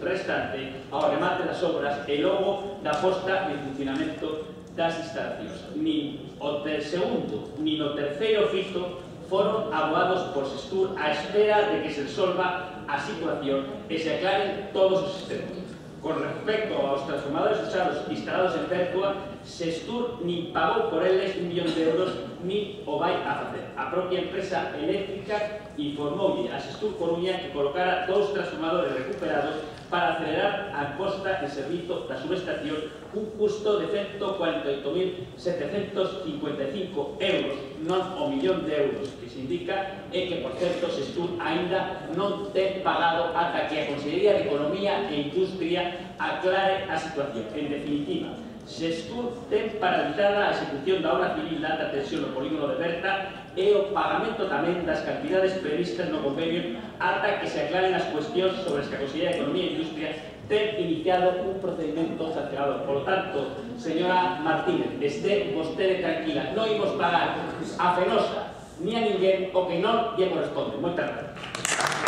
restante ao remate das obras e logo da posta en funcionamento das instalacións. Nin o segundo nin o terceiro fito foron abogados por Sestur á espera de que se resolva a situación e se aclaren todos os sistemas. Con respecto aos transformadores usados instalados en Pertua, Sestur nin pagou por eles 1 millón de euros nin o vai a facer. A propia empresa eléctrica informoulle a Sestur Coruña que colocara 2 transformadores recuperados para acelerar a posta en servizo da subestación cun custo de 148.755 euros, non o millón de euros que se indica, e que, por certo, Sestur aínda non ten pagado ata que a Consellería de Economía e Industria aclare a situación. En definitiva, Sestur ten paralizada a execución da obra civil de alta tensión no polígono de Berta e o pagamento tamén das cantidades previstas no convenio ata que se aclaren as cuestións sobre as que a Consellería de Economía e Industria ten iniciado un procedimento sancionador. Por lo tanto, señora Martínez, este vostede tranquila, non imos pagar a Fenosa ni a ninguén o que non lle corresponde. Moitas gracias.